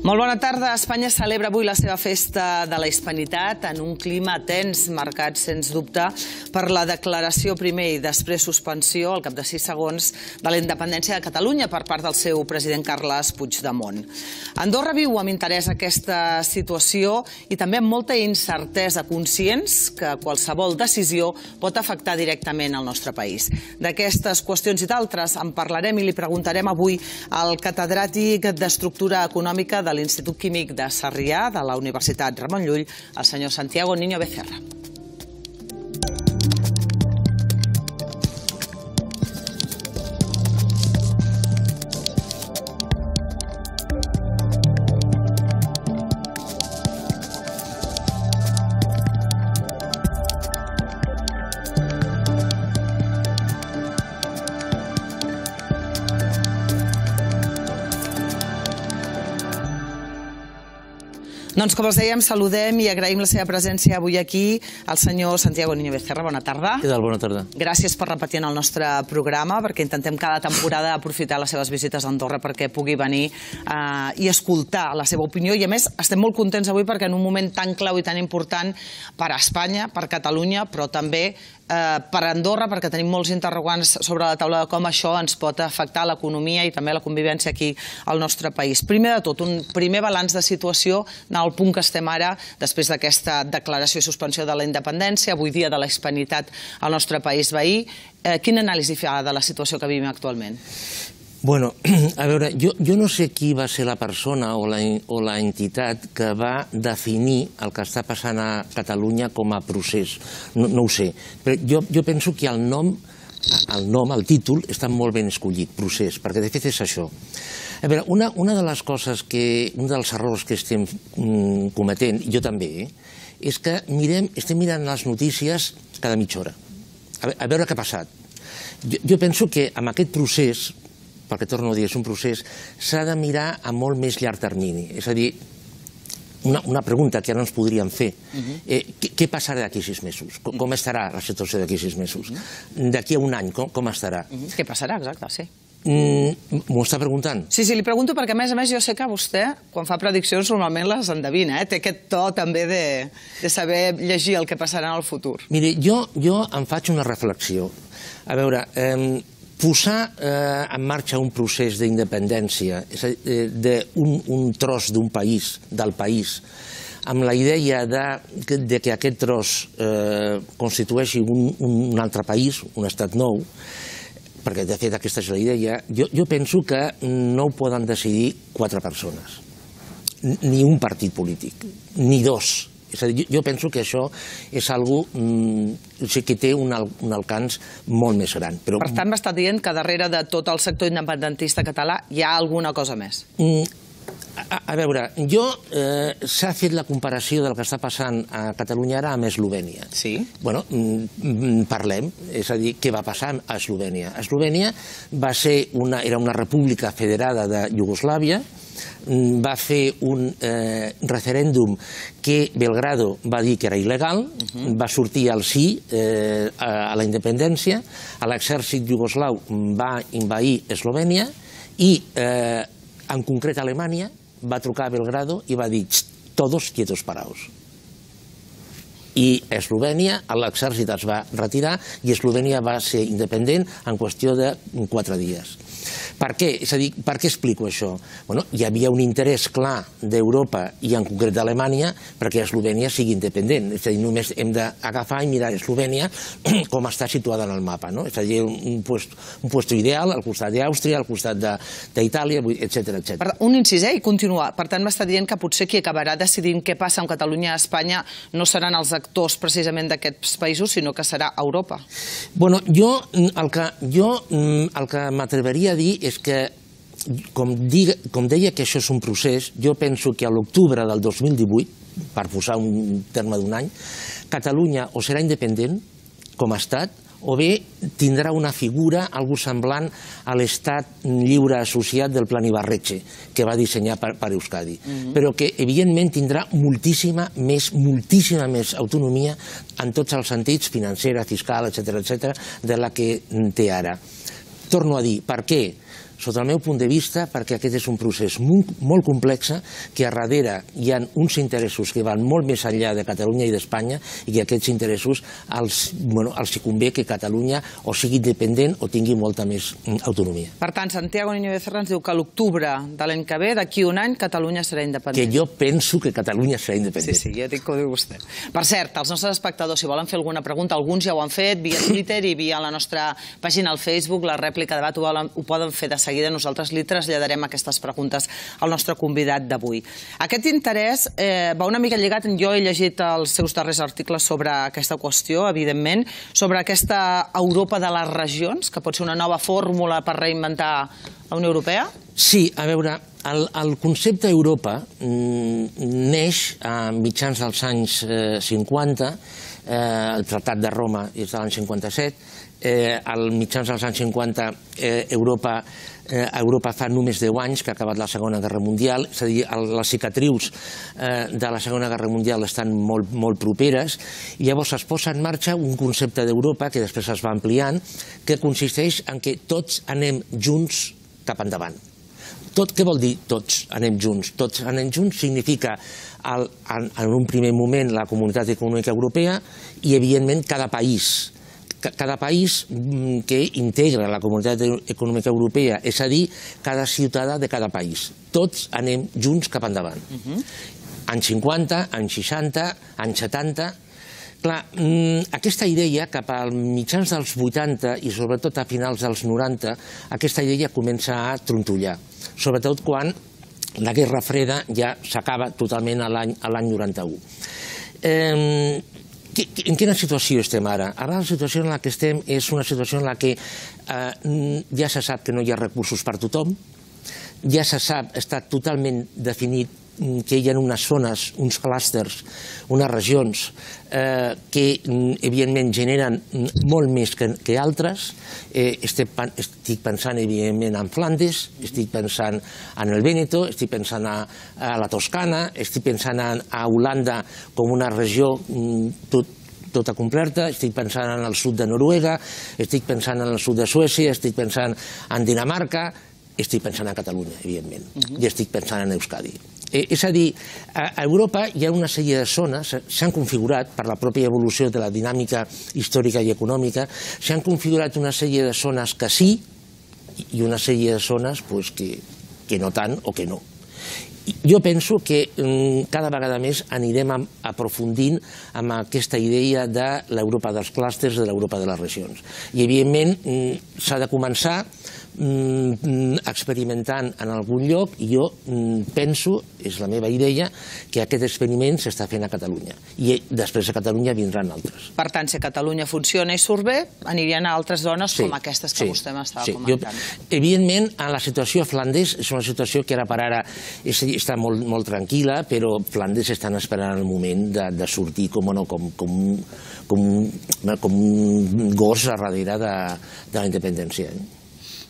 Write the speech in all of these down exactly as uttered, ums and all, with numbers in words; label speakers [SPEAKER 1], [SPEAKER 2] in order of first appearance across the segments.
[SPEAKER 1] Molt bona tarda. Espanya celebra avui la seva festa de la Hispanitat en un clima tens, marcat, sens dubte, per la declaració primer i després suspensió, al cap de sis segons, de la independència de Catalunya per part del seu president Carles Puigdemont. Andorra viu amb interès aquesta situació i també amb molta incertesa, conscients que qualsevol decisió pot afectar directament el nostre país. D'aquestes qüestions i d'altres en parlarem i li preguntarem avui al catedràtic d'Estructura Econòmica de l'Institut Químic de Sarrià, de la Universitat Ramon Llull, el senyor Santiago Niño Becerra. Doncs, com els dèiem, saludem i agraïm la seva presència avui aquí al senyor Santiago Niño Becerra. Bona tarda.
[SPEAKER 2] Què tal? Bona tarda.
[SPEAKER 1] Gràcies per repetir en el nostre programa, perquè intentem cada temporada aprofitar les seves visites a Andorra perquè pugui venir i escoltar la seva opinió. I, a més, estem molt contents avui perquè en un moment tan clau i tan important per a Espanya, per Catalunya, però també per Andorra, perquè tenim molts interrogants sobre la taula de com això ens pot afectar l'economia i també la convivència aquí al nostre país. Primer de tot, un primer balanç de situació en el punt que estem ara, després d'aquesta declaració i suspensió de la independència, avui dia de la hispanitat al nostre país veí. Quina anàlisi fa de la situació que vivim actualment?
[SPEAKER 2] Bueno, a veure, jo, jo no sé qui va ser la persona o la, o la entitat que va definir el que està passant a Catalunya com a procés. No, no ho sé. Però jo, jo penso que el nom, el nom, el títol, està molt ben escollit, procés, perquè de fet és això. A veure, una, una de les coses que, un dels errors que estem mm, cometent, jo també, eh, és que mirem, estem mirant les notícies cada mitja hora, a, a veure què ha passat. Jo, jo penso que amb aquest procés, perquè torno a dir, és un procés, s'ha de mirar a molt més llarg termini. És a dir, una, una pregunta que ara ens podríem fer. Uh-huh. eh, què, què passarà d'aquí sis mesos? Com, com estarà la situació d'aquí sis mesos? Uh-huh. D'aquí a un any, com, com estarà?
[SPEAKER 1] Uh-huh. Què passarà, exacte, sí.
[SPEAKER 2] Mm, M'ho està preguntant?
[SPEAKER 1] Sí, sí, li pregunto perquè, a més a més, jo sé que vostè, quan fa prediccions, normalment les endevina, eh? Té aquest to també de, de saber llegir el que passarà en el futur.
[SPEAKER 2] Miri, jo, jo em faig una reflexió. A veure, eh, posar eh, en marxa un procés d'independència d'un un tros d'un país, del país, amb la idea de, de que aquest tros eh, constitueixi un, un altre país, un estat nou, perquè de fet aquesta és la idea, jo, jo penso que no ho poden decidir quatre persones, ni un partit polític, ni dos. És a dir, jo penso que això és algo que té un alcance molt més gran.
[SPEAKER 1] Per tant, m'està dient que darrere de tot el sector independentista català hi ha alguna cosa més?
[SPEAKER 2] A veure, jo s'ha fet la comparació del que està passant a Catalunya ara amb Eslovènia.
[SPEAKER 1] Sí?
[SPEAKER 2] Bueno, parlem, és a dir, què va passar a Eslovènia. Eslovènia va ser una, era una república federada de Iugoslàvia, va fer un eh, referèndum que Belgrado va dir que era il·legal, uh-huh. va sortir al sí eh, a, a la independència, l'exèrcit iugoslau va envair Eslovènia i, eh, en concret, Alemanya va trucar a Belgrado i va dir «todos quietos paraos». I Eslovènia, l'exèrcit es va retirar i Eslovènia va ser independent en qüestió de quatre dies. Per què? És a dir, per què explico això? Bueno, hi havia un interès clar d'Europa i en concret d'Alemanya perquè Eslovènia sigui independent. És a dir, només hem d'agafar i mirar Eslovènia com està situada en el mapa. No? És a dir, un lloc ideal al costat d'Àustria, al costat d'Itàlia, etcètera, etcètera.
[SPEAKER 1] Un incís, eh? I continuar. Per tant, m'està dient que potser qui acabarà decidint què passa amb Catalunya i Espanya no seran els actors precisament d'aquests països, sinó que serà Europa.
[SPEAKER 2] Bueno, jo el que, jo, el que m'atreveria a dir és que, com, diga, com deia que això és un procés, jo penso que a l'octubre del dos mil divuit, per posar un terme d'un any, Catalunya o serà independent com a estat, o bé tindrà una figura, algo semblant a l'estat lliure associat del Plan Ibarretxe, que va dissenyar per, per Euskadi, mm-hmm. però que evidentment tindrà moltíssima més, moltíssima més autonomia en tots els sentits, financera, fiscal, etcètera, etcètera, de la que té ara. Torno a dir, per què? sota el meu punt de vista, perquè aquest és un procés molt complex, que a darrere hi ha uns interessos que van molt més enllà de Catalunya i d'Espanya i que aquests interessos els hi convé que Catalunya o sigui independent o tingui molta més autonomia.
[SPEAKER 1] Per tant, Santiago Niño Becerra ens diu que a l'octubre de l'any que ve, d'aquí un any, Catalunya serà independent.
[SPEAKER 2] Que jo penso que Catalunya serà independent.
[SPEAKER 1] Sí, sí, ja dic que ho diu vostè. Per cert, els nostres espectadors, si volen fer alguna pregunta, alguns ja ho han fet via Twitter i via la nostra pàgina al Facebook, la rèplica de debat ho poden fer de seguida. Nosaltres li traslladarem aquestes preguntes al nostre convidat d'avui. Aquest interès va una mica lligat, jo he llegit els seus darrers articles sobre aquesta qüestió, evidentment, sobre aquesta Europa de les regions, que pot ser una nova fórmula per reinventar la Unió Europea?
[SPEAKER 2] Sí, a veure, el concepte Europa neix a mitjans dels anys cinquanta, el Tractat de Roma és de l'any cinquanta-set, al mitjans dels anys cinquanta Europa Europa fa només deu anys que ha acabat la Segona Guerra Mundial, és a dir, les cicatrius de la Segona Guerra Mundial estan molt properes, i llavors es posa en marxa un concepte d'Europa que després es va ampliant, que consisteix en que tots anem junts cap endavant. Què vol dir tots anem junts? Tots anem junts significa en un primer moment la Comunitat Econòmica Europea i, evidentment, cada país. Cada país que integra la Comunitat Econòmica Europea, és a dir, cada ciutadà de cada país. Tots anem junts cap endavant. Anys cinquanta, anys seixanta, anys setanta... Clar, aquesta idea, cap als mitjans dels vuitanta i sobretot a finals dels noranta, aquesta idea comença a trontollar. Sobretot quan la Guerra Freda ja s'acaba totalment a l'any noranta-u. En quina situació estem ara? Ara la situació en la que estem és una situació en la que ja se sap que no hi ha recursos per a tothom, ja se sap, està totalment definit que hi ha unes zones, uns clústers, unes regions que evidentment generen molt més que altres. Estic pensant evidentment en Flandes, estic pensant en el Vèneto, estic pensant a la Toscana, estic pensant a Holanda com una regió tota completa, estic pensant en el sud de Noruega, estic pensant en el sud de Suècia, estic pensant en Dinamarca, estic pensant en Catalunya, evidentment, i estic pensant en Euskadi. És a dir, a Europa hi ha una sèrie de zones, s'han configurat per la pròpia evolució de la dinàmica històrica i econòmica, s'han configurat una sèrie de zones que sí i una sèrie de zones que no tant o que no. Jo penso que cada vegada més anirem aprofundint amb aquesta idea de l'Europa dels clústers, de l'Europa de les regions. I, evidentment, s'ha de començar experimentant en algun lloc, i jo penso, és la meva idea, que aquest experiment s'està fent a Catalunya. I després a Catalunya vindran altres.
[SPEAKER 1] Per tant, si Catalunya funciona i surt bé, anirien a altres zones com aquestes que vostè m'estava comentant.
[SPEAKER 2] Evidentment, la situació a Flandes és una situació que ara per ara està molt tranquil·la, però Flandes estan esperant el moment de sortir com un gos a darrere de la independència.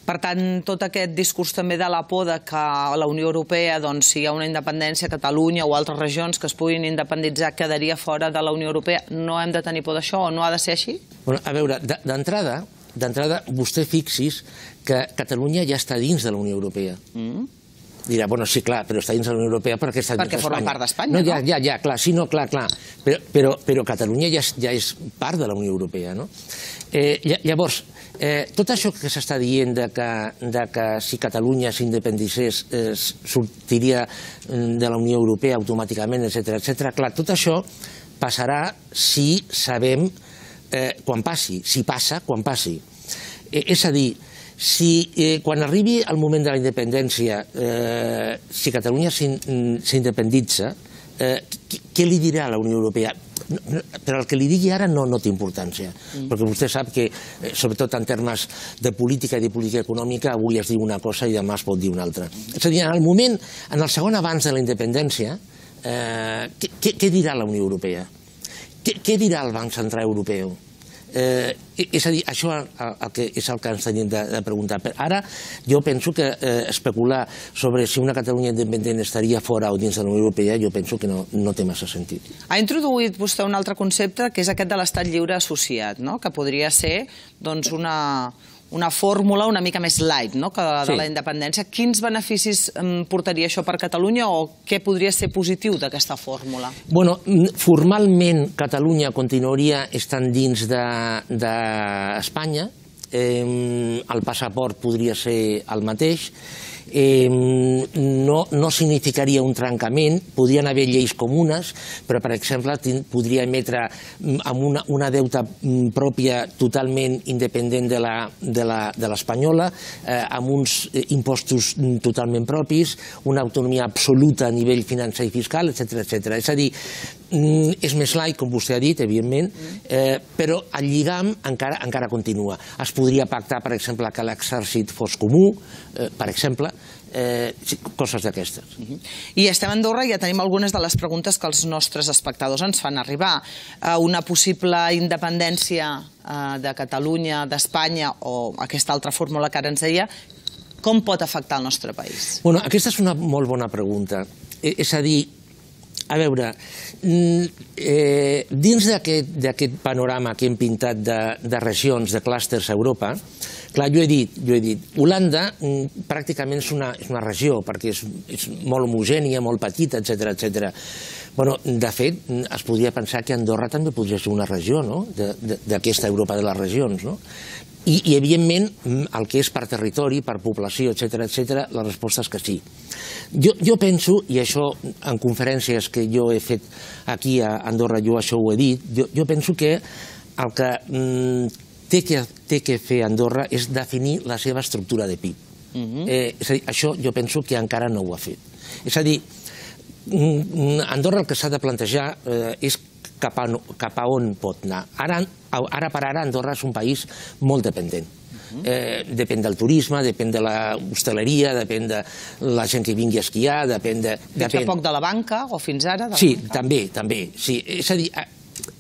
[SPEAKER 1] Per tant, tot aquest discurs també de la por que a la Unió Europea, si hi ha una independència, Catalunya o altres regions que es puguin independitzar, quedaria fora de la Unió Europea. No hem de tenir por d'això o no ha de ser així?
[SPEAKER 2] A veure, d'entrada, d'entrada, vostè fixis que Catalunya ja està dins de la Unió Europea. Dirà, bueno, sí, clar, però està dins de la Unió Europea perquè està dins d'Espanya.
[SPEAKER 1] Perquè forma part d'Espanya, no?
[SPEAKER 2] Ja, ja, ja, clar, sí, no, clar, clar. Però Catalunya ja és part de la Unió Europea, no? Llavors, tot això que s'està dient que si Catalunya s'independitzés sortiria de la Unió Europea automàticament, etcètera, etcètera, clar, tot això passarà si sabem quan passi, si passa quan passi. És a dir, si quan arribi el moment de la independència, si Catalunya s'independitza, què li dirà a la Unió Europea? Però el que li digui ara no té importància, perquè vostè sap que, sobretot en termes de política i de política econòmica, avui es diu una cosa i demà es pot dir una altra. És a dir, en el moment, en el segon abans de la independència, què dirà la Unió Europea? Què dirà el Banc Central Europeu? És a dir, això és el que ens tenim de preguntar. Ara jo penso que especular sobre si una Catalunya independent estaria fora o dins de la Unió Europea, jo penso que no té massa sentit.
[SPEAKER 1] Ha introduït vostè un altre concepte, que és aquest de l'estat lliure associat, que podria ser una una fórmula una mica més light que la de la independència. Quins beneficis portaria això per Catalunya o què podria ser positiu d'aquesta fórmula?
[SPEAKER 2] Bueno, formalment Catalunya continuaria estant dins d'Espanya. El passaport podria ser el mateix. No significaria un trencament, podrien haver lleis comunes, però, per exemple, podria emetre amb una deuta pròpia totalment independent de l'espanyola, amb uns impostos totalment propis, una autonomia absoluta a nivell financer i fiscal, etcètera. És a dir, és més light, com vostè ha dit, evidentment, però el lligam encara continua. Es podria pactar, per exemple, que l'exèrcit fos comú, per exemple, coses d'aquestes.
[SPEAKER 1] I estem a Andorra i ja tenim algunes de les preguntes que els nostres espectadors ens fan arribar. Una possible independència de Catalunya, d'Espanya, o aquesta altra fórmula que ara ens deia, com pot afectar el nostre país?
[SPEAKER 2] Bueno, aquesta és una molt bona pregunta. És a dir, a veure, dins d'aquest panorama que hem pintat de regions, de clústers a Europa, clar, jo he dit, jo he dit, Holanda pràcticament és una regió, perquè és molt homogènia, molt petita, etcètera, etcètera. Bueno, de fet, es podria pensar que Andorra també podria ser una regió, no?, d'aquesta Europa de les regions, no? I, evidentment, el que és per territori, per població, etcètera, etcètera, la resposta és que sí. Jo penso, i això en conferències que jo he fet aquí a Andorra, jo això ho he dit, jo penso que el que té que fer Andorra és definir la seva estructura de P I B. És a dir, això jo penso que encara no ho ha fet. És a dir, Andorra el que s'ha de plantejar és cap a on pot anar. Ara per ara Andorra és un país molt dependent. Depèn del turisme, depèn de l'hostaleria, depèn de la gent que vingui a esquiar, depèn de...
[SPEAKER 1] Fins a poc de la banca, o fins ara?
[SPEAKER 2] Sí, també, també. És a dir,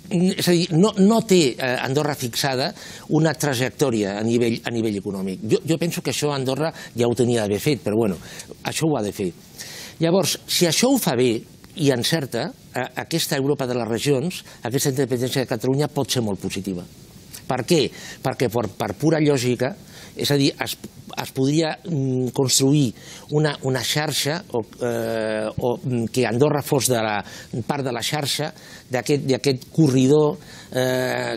[SPEAKER 2] És a dir, no té Andorra fixada una trajectòria a nivell econòmic. Jo penso que això Andorra ja ho tenia d'haver fet, però bueno, això ho ha de fer. Llavors, si això ho fa bé i encerta, aquesta Europa de les regions, aquesta independència de Catalunya pot ser molt positiva. Per què? Perquè per pura lògica, és a dir, es podria construir una xarxa o que Andorra fos part de la xarxa d'aquest corredor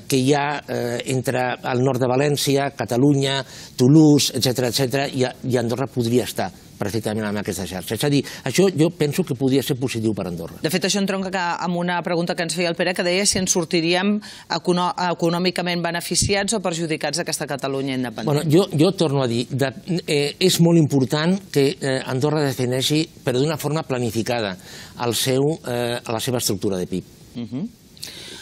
[SPEAKER 2] que hi ha entre el nord de València, Catalunya, Toulouse, etcètera, i Andorra podria estar perfectament en aquesta xarxa. És a dir, això jo penso que podria ser positiu per Andorra.
[SPEAKER 1] De fet, això entronca amb una pregunta que ens feia el Pere, que deia si ens sortiríem econòmicament beneficiats o perjudicats d'aquesta Catalunya independent.
[SPEAKER 2] Jo torno a dir, és molt important que Andorra defineixi, però d'una forma planificada, la seva estructura de P I B.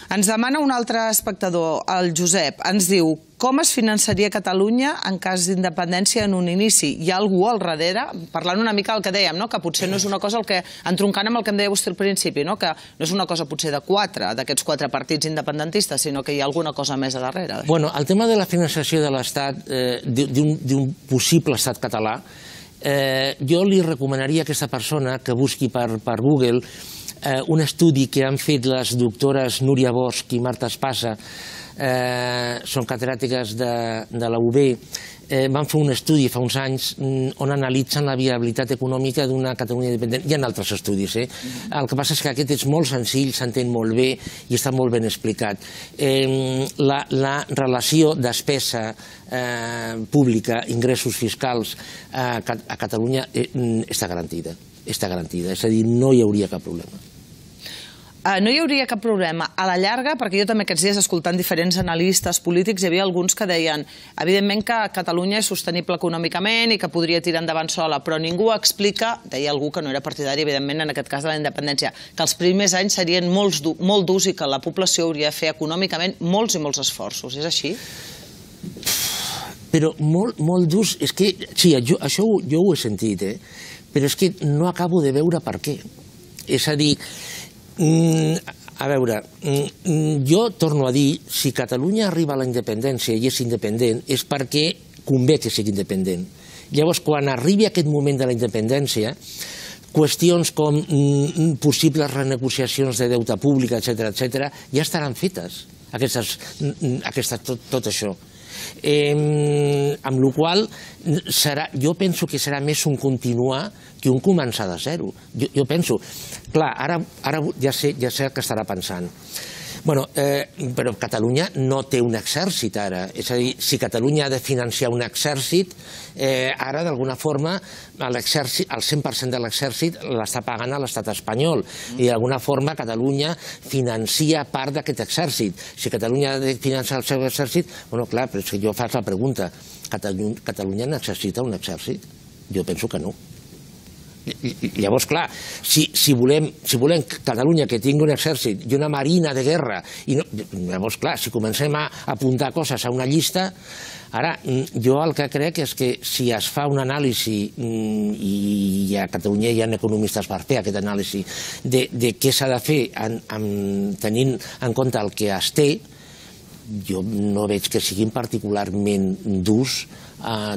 [SPEAKER 1] Ens demana un altre espectador, el Josep, ens diu: com es finançaria Catalunya en cas d'independència en un inici? Hi ha algú al darrere? Parlant una mica del que dèiem, que potser no és una cosa, entroncant amb el que em deia vostè al principi, que no és una cosa potser de quatre, d'aquests quatre partits independentistes, sinó que hi ha alguna cosa més a darrere.
[SPEAKER 2] Bueno, el tema de la finançació de l'Estat, d'un possible estat català, jo li recomanaria a aquesta persona que busqui per Google un estudi que han fet les doctores Núria Bosch i Marta Espasa, són catedràtiques de la U B, van fer un estudi fa uns anys on analitzen la viabilitat econòmica d'una Catalunya independent. Hi ha altres estudis. El que passa és que aquest és molt senzill, s'entén molt bé i està molt ben explicat. La relació despesa pública, ingressos fiscals a Catalunya està garantida. està garantida, és a dir, no hi hauria cap problema.
[SPEAKER 1] No hi hauria cap problema. A la llarga, perquè jo també aquests dies escoltant diferents analistes polítics hi havia alguns que deien evidentment que Catalunya és sostenible econòmicament i que podria tirar endavant sola, però ningú explica, deia algú que no era partidari evidentment en aquest cas de la independència, que els primers anys serien molt durs i que la població hauria de fer econòmicament molts i molts esforços. És així?
[SPEAKER 2] Però molt durs, és que, sí, això jo ho he sentit, eh? Però és que no acabo de veure per què. És a dir, a veure, jo torno a dir, si Catalunya arriba a la independència i és independent, és perquè convé que sigui independent. Llavors, quan arribi aquest moment de la independència, qüestions com possibles renegociacions de deute públic, etcètera, etcètera, ja estaran fetes, tot això. Amb la qual cosa, jo penso que serà més un continuar que un començar de zero. Jo penso, clar, ara ja sé el que estarà pensant. Bueno, però Catalunya no té un exèrcit ara. És a dir, si Catalunya ha de financiar un exèrcit, ara d'alguna forma el cent per cent de l'exèrcit l'està pagant a l'estat espanyol i d'alguna forma Catalunya financia part d'aquest exèrcit. Si Catalunya ha de financiar el seu exèrcit, bueno, clar, però és que jo faig la pregunta, Catalunya necessita un exèrcit? Jo penso que no. Llavors, clar, si volem Catalunya que tingui un exèrcit i una marina de guerra, llavors, clar, si comencem a apuntar coses a una llista, ara, jo el que crec és que si es fa un anàlisi, i a Catalunya hi ha economistes per fer aquest anàlisi, de què s'ha de fer tenint en compte el que es té, jo no veig que siguin particularment durs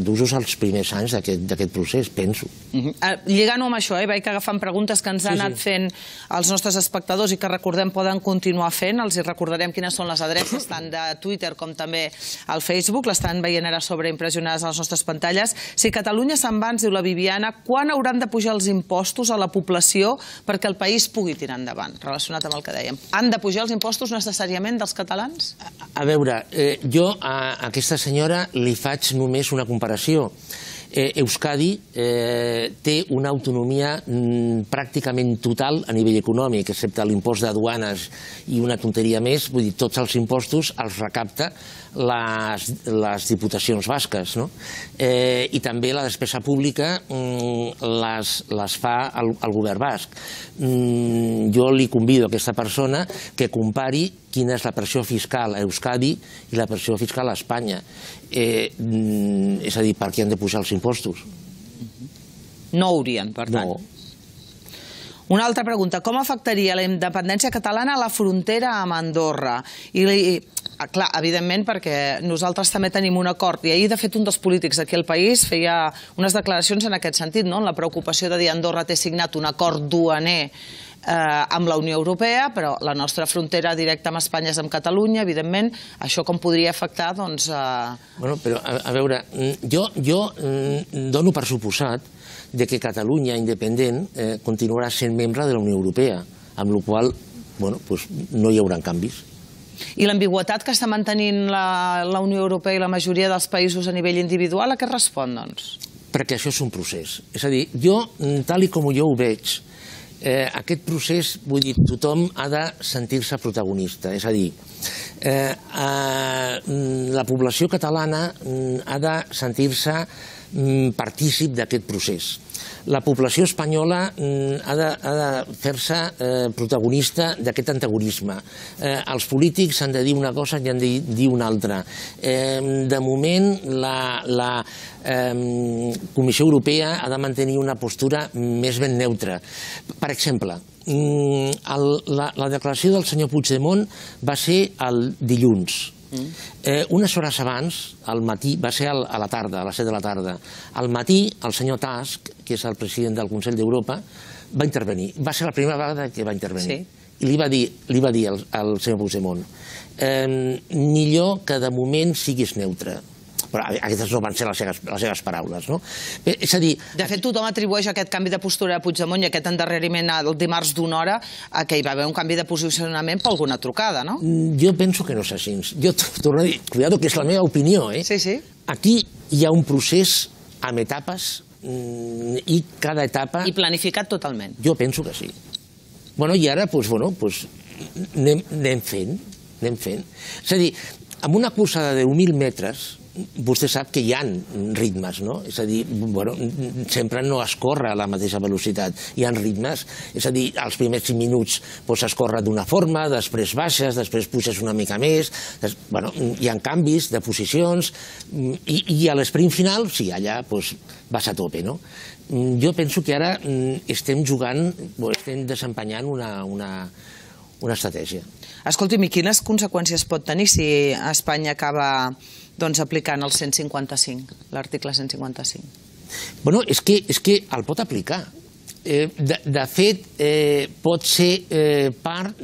[SPEAKER 2] d'usos als primers anys d'aquest procés, penso.
[SPEAKER 1] Lligant-ho amb això, vaig agafant preguntes que ens han anat fent els nostres espectadors i que recordem poden continuar fent, els recordarem quines són les adreces tant de Twitter com també al Facebook, l'estan veient ara sobreimpressionades a les nostres pantalles. Si Catalunya se'n va, ens diu la Viviana, quan hauran de pujar els impostos a la població perquè el país pugui tirar endavant, relacionat amb el que dèiem? Han de pujar els impostos necessàriament dels catalans?
[SPEAKER 2] A veure, jo a aquesta senyora li faig només una comparació. Euskadi té una autonomia pràcticament total a nivell econòmic, excepte l'impost de duanes i una tonteria més, vull dir, tots els impostos els recapta les diputacions basques, i també la despesa pública les fa el govern basc. Jo li convido a aquesta persona que compari quina és la pressió fiscal a Euskadi i la pressió fiscal a Espanya. És a dir, per què han de pujar els impostos?
[SPEAKER 1] No haurien, per tant.
[SPEAKER 2] No.
[SPEAKER 1] Una altra pregunta, com afectaria la independència catalana a la frontera amb Andorra? I, clar, evidentment, perquè nosaltres també tenim un acord, i ahir, de fet, un dels polítics aquí al país feia unes declaracions en aquest sentit, no? La preocupació de dir Andorra té signat un acord duaner amb la Unió Europea, però la nostra frontera directa amb Espanya és amb Catalunya, evidentment, això com podria afectar, doncs...
[SPEAKER 2] Bueno, però, a veure, jo dono per suposat que Catalunya, independent, continuarà sent membre de la Unió Europea, amb la qual cosa no hi haurà canvis.
[SPEAKER 1] I l'ambigüitat que està mantenint la Unió Europea i la majoria dels països a nivell individual, a què respon, doncs?
[SPEAKER 2] Perquè això és un procés. És a dir, jo, tal com jo ho veig, aquest procés, vull dir, tothom ha de sentir-se protagonista. És a dir, la població catalana ha de sentir-se partícip d'aquest procés. La població espanyola ha de fer-se protagonista d'aquest antagonisme. Els polítics han de dir una cosa i han de dir una altra. De moment, la Comissió Europea ha de mantenir una postura més ben neutra. Per exemple, la declaració del senyor Puigdemont va ser el dilluns. Unes hores abans, al matí, va ser a la tarda, a les set de la tarda, al matí el senyor Tusk, que és el president del Consell d'Europa, va intervenir. Va ser la primera vegada que va intervenir. I li va dir al senyor Puigdemont, millor que de moment siguis neutre. Però aquestes no van ser les seves paraules, no? És a dir...
[SPEAKER 1] De fet, tothom atribueix aquest canvi de postura a Puigdemont i aquest endarreriment el dimarts d'una hora a que hi va haver un canvi de posicionament per alguna trucada, no?
[SPEAKER 2] Jo penso que no és així. Jo torno a dir, cuidado, que és la meva opinió, eh?
[SPEAKER 1] Sí, sí.
[SPEAKER 2] Aquí hi ha un procés amb etapes i cada etapa...
[SPEAKER 1] I planificat totalment.
[SPEAKER 2] Jo penso que sí. Bueno, i ara, doncs, bueno, doncs, anem fent, anem fent. És a dir, amb una cursa de deu mil metres, vostè sap que hi ha ritmes, no? És a dir, bueno, sempre no es corre a la mateixa velocitat. Hi ha ritmes, és a dir, als primers cinc minuts es corre d'una forma, després baixes, després puges una mica més, bueno, hi ha canvis de posicions, i a l'esprint final, sí, allà vas a tope, no? Jo penso que ara estem jugant, estem desempenyant una estratègia.
[SPEAKER 1] Escolti'm, i quines conseqüències pot tenir si Espanya acaba aplicant el cent cinquanta-cinc, l'article cent cinquanta-cinc?
[SPEAKER 2] Bueno, és que el pot aplicar. De fet, pot ser part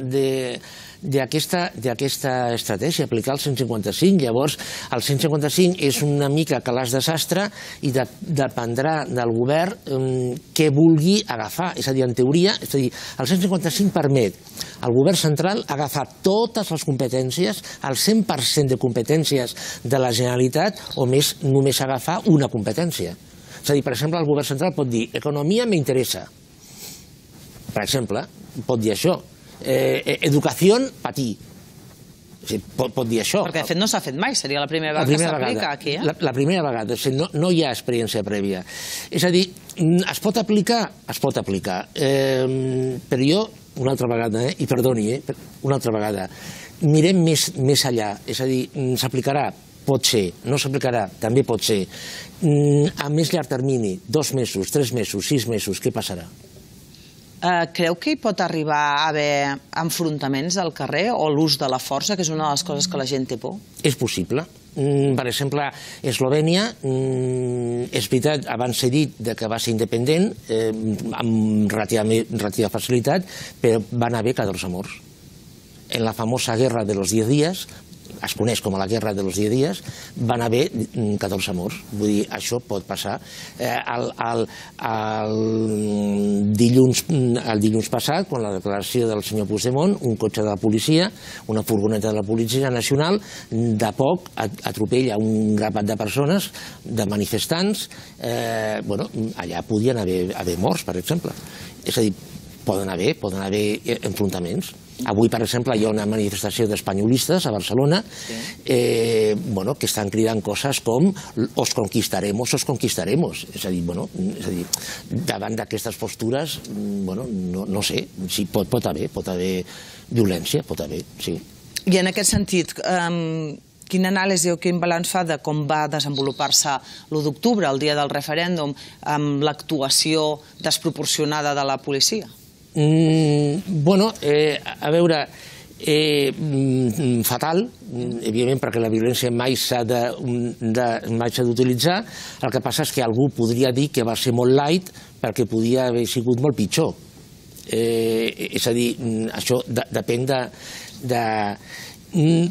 [SPEAKER 2] d'aquesta estratègia, aplicar el cent i cinquanta cinc. Llavors, el cent i cinquanta cinc és una mica calaix de sastre i dependrà del govern què vulgui agafar. És a dir, en teoria, és a dir, el cent i cinquanta cinc permet al govern central agafar totes les competències, el cent per cent de competències de la Generalitat, o més només agafar una competència. És a dir, per exemple, el govern central pot dir economia m'interessa. Per exemple, pot dir això. Educació, patir. Pot dir això.
[SPEAKER 1] Perquè, de fet, no s'ha fet mai. Seria la primera vegada que s'aplica aquí.
[SPEAKER 2] La primera vegada. No hi ha experiència prèvia. És a dir, es pot aplicar? Es pot aplicar. Però jo, una altra vegada, i perdoni, una altra vegada, mirem més enllà. És a dir, s'aplicarà? Pot ser. No s'aplicarà? També pot ser. A més llarg termini, dos mesos, tres mesos, sis mesos, què passarà?
[SPEAKER 1] Creu que hi pot arribar a haver enfrontaments al carrer o l'ús de la força, que és una de les coses que la gent té por?
[SPEAKER 2] És possible. Per exemple, Eslovènia, és veritat, abans he dit que va ser independent, amb relativa facilitat, però van haver catorze morts. En la famosa guerra de los diez días, es coneix com a la guerra de los diez días, van haver catorze morts. Vull dir, això pot passar. El dilluns passat, quan la declaració del senyor Puigdemont, un cotxe de la policia, una furgoneta de la Policia Nacional, de poc atropella un grapat de persones, de manifestants. Allà podien haver morts, per exemple. És a dir, poden haver, poden haver enfrontaments. Avui, per exemple, hi ha una manifestació d'espanyolistes a Barcelona que estan cridant coses com os conquistaremos, os conquistaremos. És a dir, davant d'aquestes postures, no sé, pot haver, pot haver violència, pot haver, sí.
[SPEAKER 1] I en aquest sentit, quina anàlisi o quin balanç fa de com va desenvolupar-se l'u d'octubre, el dia del referèndum, amb l'actuació desproporcionada de la policia?
[SPEAKER 2] Bueno, a veure, fatal, evidentment, perquè la violència mai s'ha d'utilitzar. El que passa és que algú podria dir que va ser molt light perquè podia haver sigut molt pitjor. És a dir, això depèn de...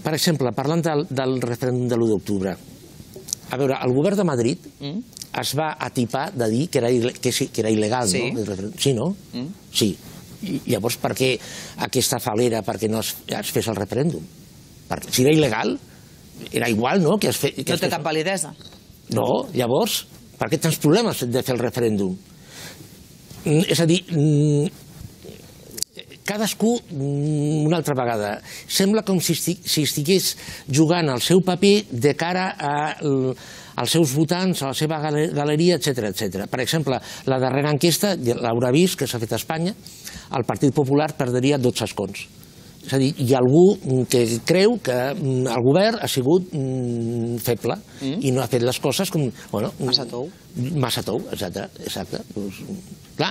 [SPEAKER 2] Per exemple, parlant del referèndum de l'u d'octubre, a veure, el govern de Madrid es va atipar de dir que era il·legal, no? Sí, no? Sí. Llavors, per què aquesta falera perquè no es fes el referèndum? Si era il·legal, era igual, no? No
[SPEAKER 1] té cap validesa.
[SPEAKER 2] No, llavors, per què tants problemes de fer el referèndum? És a dir, cadascú, una altra vegada, sembla com si estigués jugant el seu paper de cara als seus votants, a la seva galeria, etcètera. Per exemple, la darrera enquesta, l'haurà vist, que s'ha fet a Espanya, el Partit Popular perdria dotze escons. És a dir, hi ha algú que creu que el govern ha sigut feble i no ha fet les coses com...
[SPEAKER 1] Massa tou.
[SPEAKER 2] Massa tou, exacte. Clar,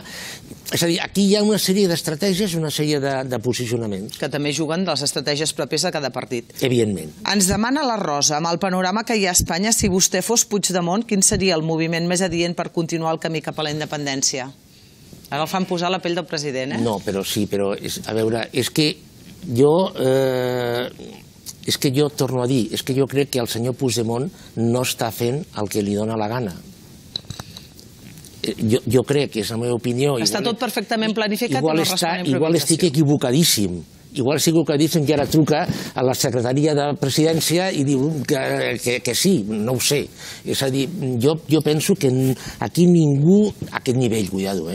[SPEAKER 2] és a dir, aquí hi ha una sèrie d'estratègies i una sèrie de posicionaments.
[SPEAKER 1] Que també juguen de les estratègies pròpies de cada partit.
[SPEAKER 2] Evidentment.
[SPEAKER 1] Ens demana la Rosa, amb el panorama que hi ha a Espanya, si vostè fos Puigdemont, quin seria el moviment més adient per continuar el camí cap a la independència? Ara el fan posar la pell del president, eh?
[SPEAKER 2] No, però sí, però, a veure, és que jo, és que jo torno a dir, és que jo crec que el senyor Puigdemont no està fent el que li dóna la gana. Jo crec que és la meva opinió...
[SPEAKER 1] Està tot perfectament planificat i no respon a improvisació.
[SPEAKER 2] Igual estic equivocadíssim. Igual estic equivocadíssim que ara truca a la Secretaria de Presidència i diu que sí, no ho sé. És a dir, jo penso que aquí ningú, a aquest nivell, cuidado,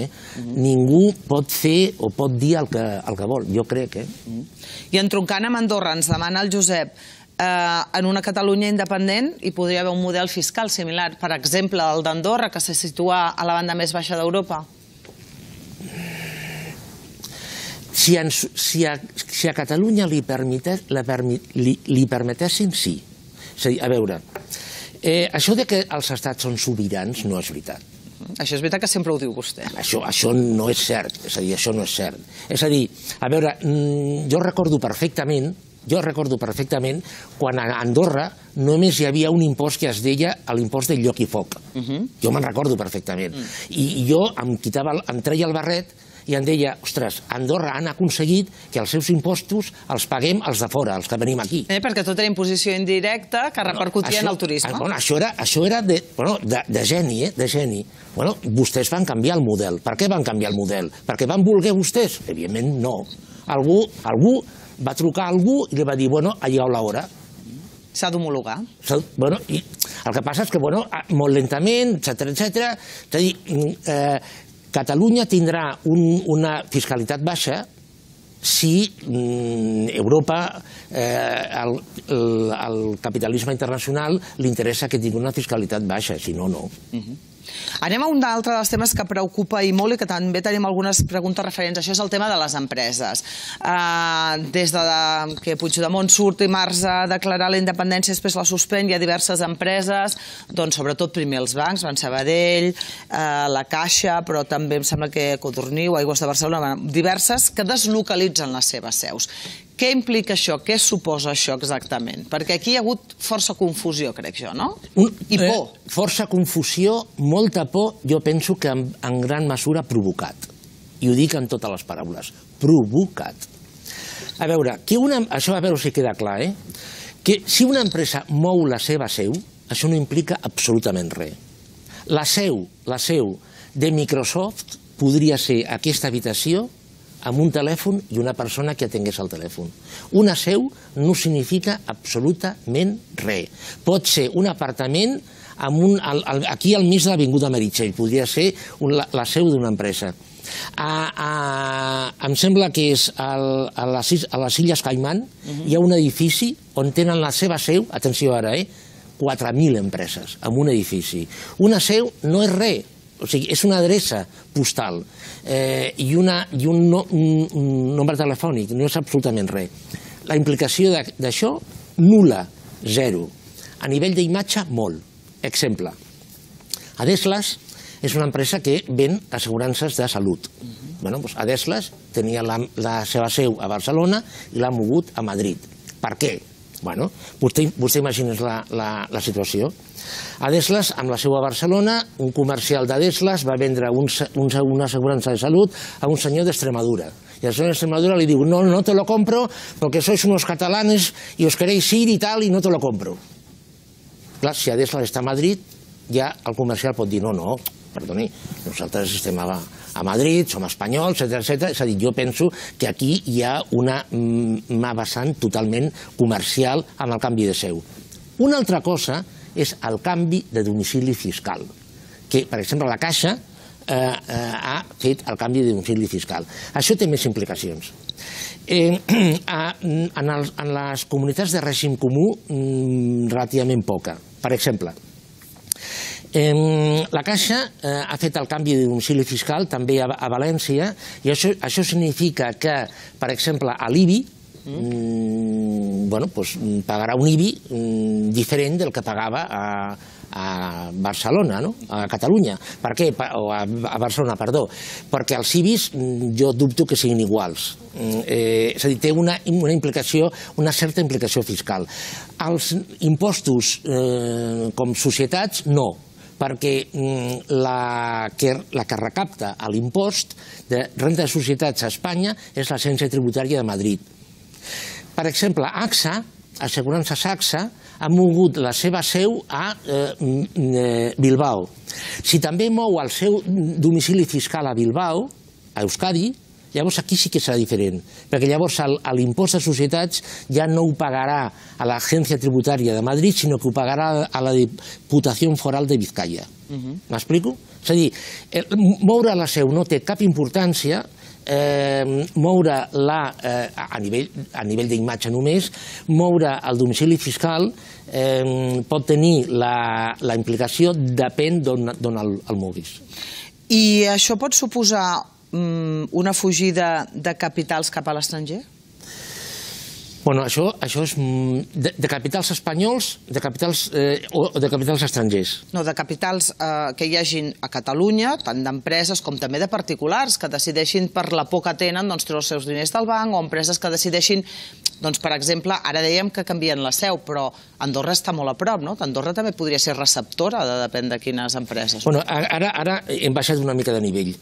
[SPEAKER 2] ningú pot fer o pot dir el que vol, jo crec.
[SPEAKER 1] I entroncant amb Andorra, ens demana el Josep, en una Catalunya independent hi podria haver un model fiscal similar, per exemple, el d'Andorra, que se situa a la banda més baixa d'Europa?
[SPEAKER 2] Si a Catalunya li permetessin, sí. És a dir, a veure, això que els estats són sobirans no és veritat.
[SPEAKER 1] Això és veritat que sempre ho diu vostè.
[SPEAKER 2] Això no és cert, és a dir, això no és cert. És a dir, a veure, jo recordo perfectament Jo recordo perfectament quan a Andorra només hi havia un impost que es deia l'impost del lloc i foc. Jo me'n recordo perfectament. I jo em treia el barret i em deia, ostres, a Andorra han aconseguit que els seus impostos els paguem els de fora, els que venim aquí.
[SPEAKER 1] Eh, perquè tot era imposició indirecta que repercutia en el turisme.
[SPEAKER 2] Bueno, això era, això era de, bueno, de, de geni, eh? de geni. Bueno, vostès van canviar el model. Per què van canviar el model? Perquè van voler vostès? Evidentment no. Algú, algú va trucar a algú i li va dir, bueno, ha llegat l'hora.
[SPEAKER 1] S'ha d'homologar.
[SPEAKER 2] Bueno, i el que passa és que, bueno, molt lentament, etcètera, etcètera. És a dir, eh, Catalunya tindrà un, una fiscalitat baixa si mm, Europa, eh, el, el, el capitalisme internacional, li interessa que tingui una fiscalitat baixa, si no, no.
[SPEAKER 1] Uh-huh. Anem a un altre dels temes que preocupa i molt i que també tenim algunes preguntes referents. Això és el tema de les empreses. Uh, des de que Puigdemont surt dimarts a declarar la independència, després la suspèn, hi ha diverses empreses, doncs sobretot primer els bancs, Banc Sabadell, uh, la Caixa, però també em sembla que Codorniu, Aigües de Barcelona, diverses que deslocalitzen les seves seus. Què implica això? Què suposa això exactament? Perquè aquí hi ha hagut força confusió, crec jo, no? I por.
[SPEAKER 2] Eh, força confusió, molta por, jo penso que en, en gran mesura provocat. I ho dic en totes les paraules. Provocat. A veure, que una, això a veure si queda clar, eh? Que si una empresa mou la seva seu, això no implica absolutament res. La seu, la seu de Microsoft podria ser aquesta habitació amb un telèfon i una persona que atengués el telèfon. Una seu no significa absolutament res. Pot ser un apartament amb un, al, al, aquí al mig de l'Avinguda Meritxell, podria ser un, la, la seu d'una empresa. A, a, em sembla que és al, a, les, a les Illes Caimán, uh-huh. hi ha un edifici on tenen la seva seu, atenció ara, eh, quatre mil empreses en un edifici. Una seu no és res. O sigui, és una adreça postal eh, i, una, i un, no, un, un nombre telefònic, no és absolutament res. La implicació d'això, nul·la, zero. A nivell d'imatge, molt. Exemple, Adeslas és una empresa que ven assegurances de salut. Uh-huh. Bueno, doncs Adeslas tenia la, la seva seu a Barcelona i l'ha mogut a Madrid. Per què? Bueno, vostè, vostè imagines la, la, la situació. Adeslas, amb la seu a Barcelona, un comercial d'Adeslas va vendre un, un, una assegurança de salut a un senyor d'Extremadura. I el senyor d'Extremadura li diu, no, no te lo compro porque sois unos catalanes y os queréis ir y tal, y no te lo compro. Clar, si Adeslas està a Madrid, ja el comercial pot dir, no, no, perdoni, nosaltres estem a, a Madrid, som espanyols, etcètera, etcètera. És a dir, jo penso que aquí hi ha una, una vessant totalment comercial amb el canvi de seu. Una altra cosa és el canvi de domicili fiscal, que, per exemple, la Caixa eh, eh, ha fet el canvi de domicili fiscal. Això té més implicacions. Eh, en, els, en les comunitats de règim comú, relativament poca. Per exemple, Eh, la Caixa eh, ha fet el canvi de domicili fiscal també a, a València i això, això significa que, per exemple, a l'I B I mm, bueno, pues, pagarà un I B I mm, diferent del que pagava a, a Barcelona, no? A Catalunya. Per què? O a, a Barcelona, perdó. Perquè els I B Is jo dubto que siguin iguals. Eh, és a dir, té una, una implicació, una certa implicació fiscal. Els impostos eh, com societats, no, perquè la que, la que recapta l'impost de renda de societats a Espanya és l'Agència Tributària de Madrid. Per exemple, AXA, Assegurances AXA, ha mogut la seva seu a eh, Bilbao. Si també mou el seu domicili fiscal a Bilbao, a Euskadi, llavors aquí sí que serà diferent, perquè llavors l'impost de societats ja no ho pagarà a l'Agència Tributària de Madrid, sinó que ho pagarà a la Diputació Foral de Vizcaya. M'explico? És a dir, moure la seu no té cap importància, moure-la a nivell d'imatge només, moure el domicili fiscal pot tenir la implicació, depèn d'on el moguis.
[SPEAKER 1] I això pot suposar una fugida de capitals cap a l'estranger?
[SPEAKER 2] Bueno, això és de capitals espanyols o de capitals estrangers?
[SPEAKER 1] No, de capitals que hi hagin a Catalunya, tant d'empreses com també de particulars, que decideixin per la por que tenen treure els seus diners del banc, o empreses que decideixin Doncs, per exemple, ara dèiem que canvien la seu, però Andorra està molt a prop, no? Andorra també podria ser receptora, de depèn de quines empreses.
[SPEAKER 2] Bueno, ara, ara hem baixat una mica de nivell.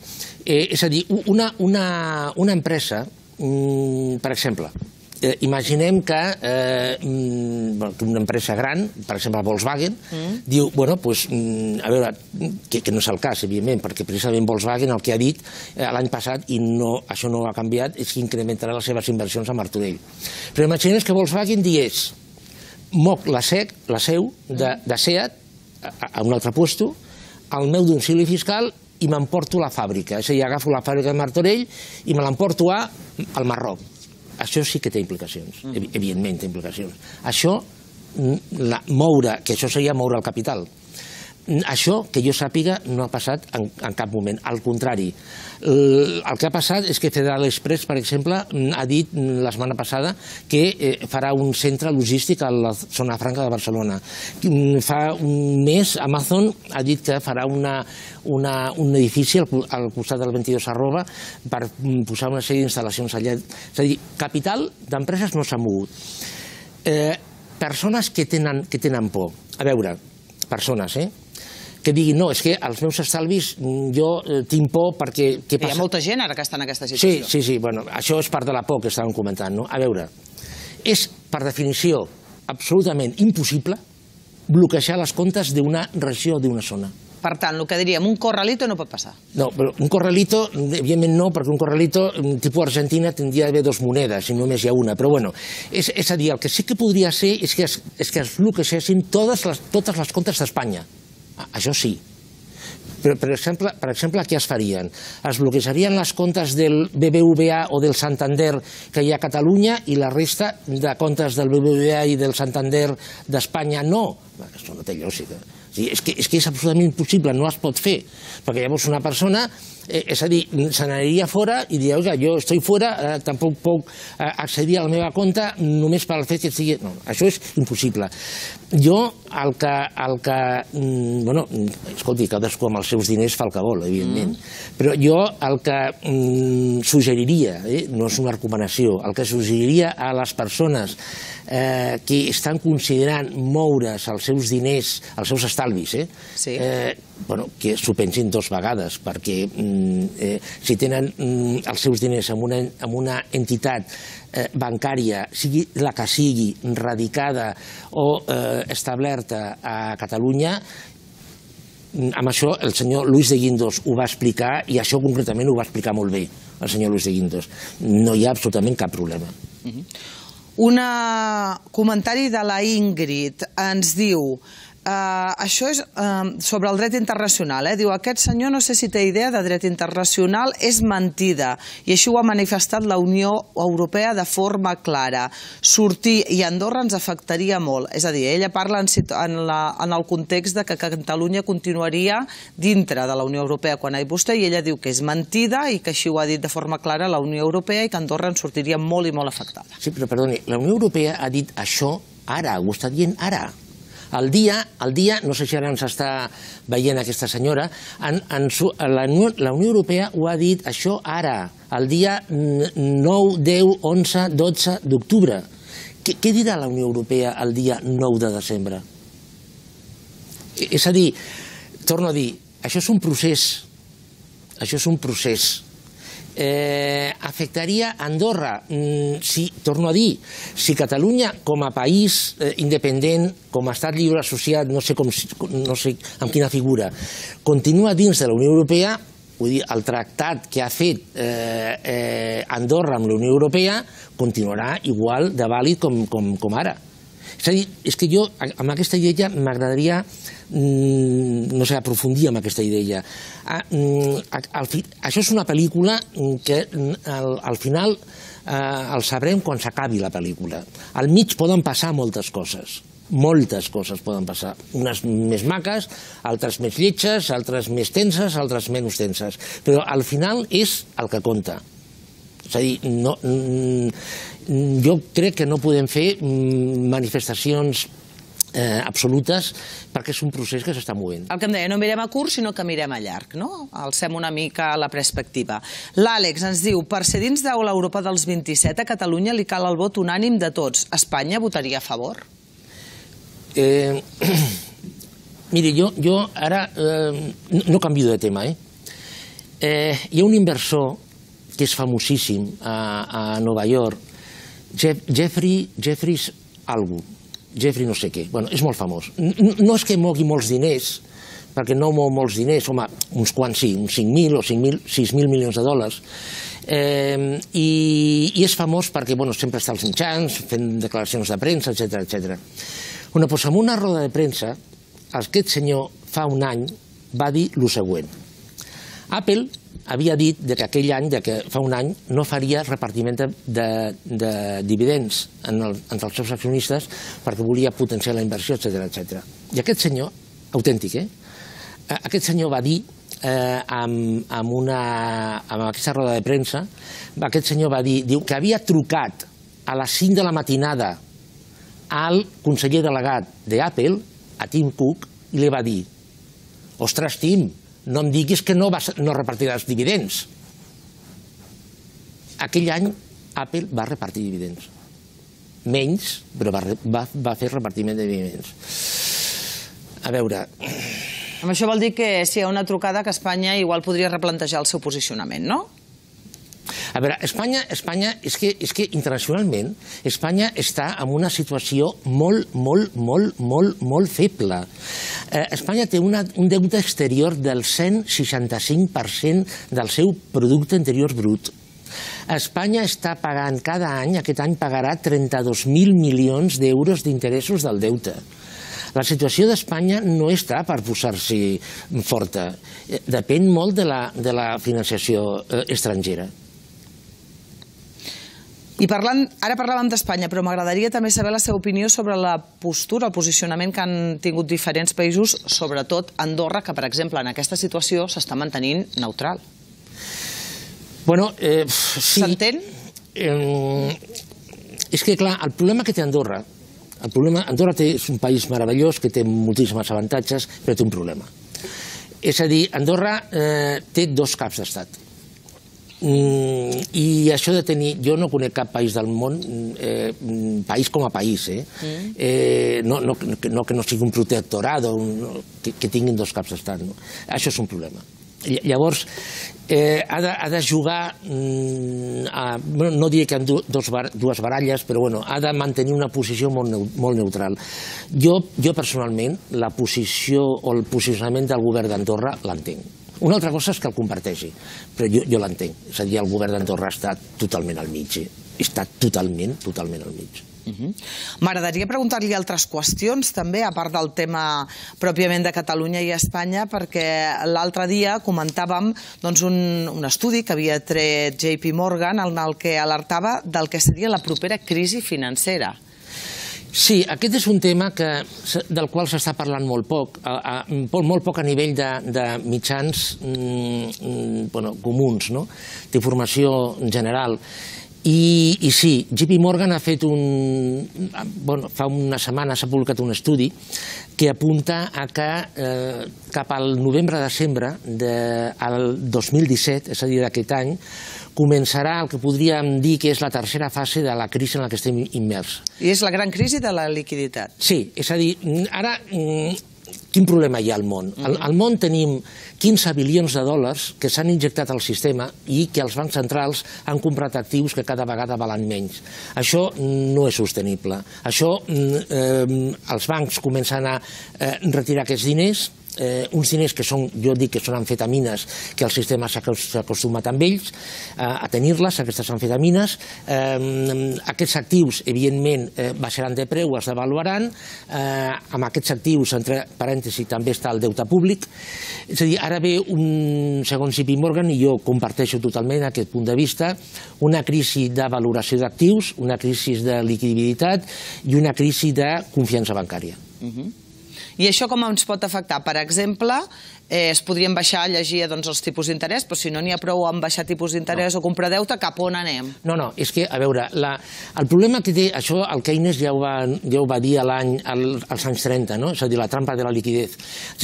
[SPEAKER 2] Eh, és a dir, una, una, una empresa, mm, per exemple, Eh, imaginem que eh, una empresa gran, per exemple Volkswagen, mm. diu, bueno, pues, a veure, que, que no és el cas, evidentment, perquè precisament Volkswagen el que ha dit eh, l'any passat, i no, això no ha canviat, és que incrementarà les seves inversions a Martorell. Però imaginem que Volkswagen digués, moc la, sec, la seu de, de SEAT a, a un altre puesto, al meu domicili fiscal, i m'emporto la fàbrica. És a dir, agafo la fàbrica de Martorell i me l'emporto al Marroc. Això sí que té implicacions, evidentment té implicacions. Això, la, moure, que això seria moure el capital. Això, que jo sàpiga, no ha passat en, en cap moment. Al contrari, el, el que ha passat és que Federal Express, per exemple, ha dit la setmana passada que eh, farà un centre logístic a la zona franca de Barcelona. Fa un mes Amazon ha dit que farà una, una, un edifici al, al costat del veintidós arroba per posar una sèrie d'instal·lacions allà. És a dir, capital d'empreses no s'ha mogut. Eh, persones que tenen, que tenen por. A veure, persones, eh? que diguin, no, és que els meus estalvis jo tinc por perquè...
[SPEAKER 1] Hi ha molta gent ara que està en aquesta situació.
[SPEAKER 2] Sí, sí, sí, bueno, això és part de la por que estàvem comentant, no? A veure, és, per definició, absolutament impossible bloquejar les comptes d'una regió o d'una zona.
[SPEAKER 1] Per tant, el que diríem, un corralito no pot passar.
[SPEAKER 2] No, però un corralito, evidentment no, perquè un corralito tipus Argentina tindria d'haver dos monedes i només hi ha una, però bueno, és, és a dir, el que sí que podria ser és que es, és que es bloquegessin totes les, totes les comptes d'Espanya. Això sí. Però, per exemple, per exemple, què es farien? Es bloquejarien les comptes del B B V A o del Santander que hi ha a Catalunya i la resta de comptes del B B V A i del Santander d'Espanya no. Això no té lògica. És que, és que és absolutament impossible, no es pot fer, perquè llavors una persona, eh, és a dir, se n'aniria fora i diria, oiga, jo estic fora, eh, tampoc puc eh, accedir a la meva compte només per al fet que estigui... No, això és impossible. Jo, el que... El que mm, bueno, escolti, cadascú amb els seus diners fa el que vol, evidentment, mm. però jo el que mm, suggeriria, eh, no és una recomanació, el que suggeriria a les persones eh, que estan considerant moure's els seus diners, els seus estalvis, eh,
[SPEAKER 1] sí.
[SPEAKER 2] eh, bueno, que s'ho pensin dos vegades, perquè mm, eh, si tenen mm, els seus diners en una, en una entitat eh, bancària, sigui la que sigui, radicada o eh, establerta a Catalunya, amb això el senyor Luis de Guindos ho va explicar i això concretament ho va explicar molt bé el senyor Luis de Guindos. No hi ha absolutament cap problema.
[SPEAKER 1] Un comentari de la Ingrid ens diu... Uh, això és uh, sobre el dret internacional. Eh? Diu, aquest senyor no sé si té idea de dret internacional, és mentida. I així ho ha manifestat la Unió Europea de forma clara. Sortir i Andorra ens afectaria molt. És a dir, ella parla en, en, la, en el context de que Catalunya continuaria dintre de la Unió Europea quan ha dit vostè, i ella diu que és mentida i que així ho ha dit de forma clara la Unió Europea i que Andorra en sortiria molt i molt afectada.
[SPEAKER 2] Sí, però perdoni, la Unió Europea ha dit això ara, ho està dient ara. El dia, el dia, no sé si ara ens està veient aquesta senyora, en, en su, la, la Unió Europea ho ha dit això ara, el dia nou, deu, onze, dotze d'octubre. Què, què dirà la Unió Europea el dia nou de desembre? És a dir, torno a dir, això és un procés, això és un procés. Eh, afectaria Andorra, mm, si, torno a dir, si Catalunya com a país eh, independent, com a estat lliure associat, no sé, com, no sé amb quina figura, continua dins de la Unió Europea, vull dir, el tractat que ha fet eh, eh, Andorra amb la Unió Europea continuarà igual de vàlid com, com, com ara. És a dir, és que jo amb aquesta idea m'agradaria, no sé, aprofundir amb aquesta idea. Això és una pel·lícula que al final el sabrem quan s'acabi la pel·lícula. Al mig poden passar moltes coses. Moltes coses poden passar, unes més maques, altres més lletges, altres més tenses, altres menys tenses, però al final és el que compta. És a dir, no, jo crec que no podem fer manifestacions absolutes, perquè és un procés que s'està movent.
[SPEAKER 1] El que em deia, no mirem a curt, sinó que mirem a llarg, no? Alcem una mica la perspectiva. L'Àlex ens diu, per ser dins de l'Europa dels vint-i-set, a Catalunya li cal el vot unànim de tots. Espanya votaria a favor?
[SPEAKER 2] Eh, miri, jo, jo ara eh, no canvio de tema, eh? Eh, hi ha un inversor que és famosíssim a, a Nova York, Jeff, Jeffrey, Jeffries algú, Jeffrey no sé què, bueno, és molt famós. No és que mogui molts diners, perquè no mou molts diners, home, uns quants sí, uns cinc mil o sis mil milions de dòlars, eh, i, i és famós perquè, bueno, sempre està als mitjans, fent declaracions de premsa, etcètera, etcètera. Bueno, doncs en una roda de premsa, aquest senyor fa un any va dir el següent. Apple havia dit que aquell any, que fa un any, no faria repartiment de, de, de dividends en el, entre els seus accionistes perquè volia potenciar la inversió, etcètera, etcètera. I aquest senyor, autèntic, eh? Aquest senyor va dir, eh, amb, amb, una, amb aquesta roda de premsa, aquest senyor va dir, diu que havia trucat a les cinc de la matinada al conseller delegat d'Apple, a Tim Cook, i li va dir, ostres, Tim, no em diguis que no, vas, no repartiràs dividends. Aquell any Apple va repartir dividends. Menys, però va, va, va fer repartiment de dividends. A veure...
[SPEAKER 1] Amb això vol dir que si hi ha una trucada que Espanya igual podria replantejar el seu posicionament, no?
[SPEAKER 2] A veure, Espanya, Espanya és, que, és que internacionalment Espanya està en una situació molt, molt, molt, molt, molt feble. Eh, Espanya té una, un deute exterior del cent seixanta-cinc per cent del seu producte interior brut. Espanya està pagant cada any, aquest any pagarà trenta-dos mil milions d'euros d'interessos del deute. La situació d'Espanya no està per posar-s'hi forta. Depèn molt de la, de la financiació eh, estrangera.
[SPEAKER 1] I parlant, ara parlàvem d'Espanya, però m'agradaria també saber la seva opinió sobre la postura, el posicionament que han tingut diferents països, sobretot Andorra, que, per exemple, en aquesta situació s'està mantenint neutral.
[SPEAKER 2] Bueno, eh, sí.
[SPEAKER 1] S'entén?
[SPEAKER 2] Eh, és que, clar, el problema que té Andorra, el problema, Andorra té, és un país meravellós que té moltíssims avantatges, però té un problema. És a dir, Andorra eh, té dos caps d'estat. Mm, i això de tenir, jo no conec cap país del món, eh, país com a país, eh? Mm. Eh, no, no, no que no sigui un protectorat o un, que, que tinguin dos caps d'estat, no? Això és un problema. Llavors, eh, ha, de, ha de jugar, mm, a, bueno, no diré que amb dos, dues baralles, però bueno, ha de mantenir una posició molt, molt neutral. Jo, jo personalment, la posició o el posicionament del govern d'Andorra l'entenc. Una altra cosa és que el comparteixi, però jo, jo l'entenc. És a dir, el govern d'Andorra està totalment al mig. Està totalment, totalment al mig.
[SPEAKER 1] Uh-huh. M'agradaria preguntar-li altres qüestions, també, a part del tema pròpiament de Catalunya i Espanya, perquè l'altre dia comentàvem doncs, un, un estudi que havia tret J P Morgan en el que alertava del que seria la propera crisi financera.
[SPEAKER 2] Sí, aquest és un tema que, del qual s'està parlant molt poc, a, a, molt poc a nivell de, de mitjans mm, bueno, comuns, no? D'informació general. I, I sí, J P Morgan ha fet un... Bueno, fa una setmana s'ha publicat un estudi que apunta a que eh, cap al novembre-desembre del dos mil disset, és a dir, d'aquest any, començarà el que podríem dir que és la tercera fase de la crisi en la que estem immers.
[SPEAKER 1] I és la gran crisi de la liquiditat.
[SPEAKER 2] Sí, és a dir, ara, quin problema hi ha al món? Al, al món tenim quinze bilions de dòlars que s'han injectat al sistema i que els bancs centrals han comprat actius que cada vegada valen menys. Això no és sostenible. Això, eh, els bancs comencen a eh, retirar aquests diners, Eh, uns diners que són, jo dic que són amfetamines, que el sistema s'ha acostumat amb ells eh, a tenir-les, aquestes amfetamines. Eh, aquests actius, evidentment, eh, baixaran de preu, es devaluaran. Eh, amb aquests actius, entre parèntesis, també està el deute públic. És a dir, ara ve, un, segons J P Morgan, i jo comparteixo totalment aquest punt de vista, una crisi de valoració d'actius, una crisi de liquiditat i una crisi de confiança bancària.
[SPEAKER 1] Uh-huh. I això com ens pot afectar? Per exemple, es podrien baixar, llegia els tipus d'interès, però si no n'hi ha prou amb baixar tipus d'interès o comprar deute, cap on anem?
[SPEAKER 2] No, no, és que, a veure, el problema que té això, el Keynes ja ho va dir als anys trenta, és a dir, la trampa de la liquidez.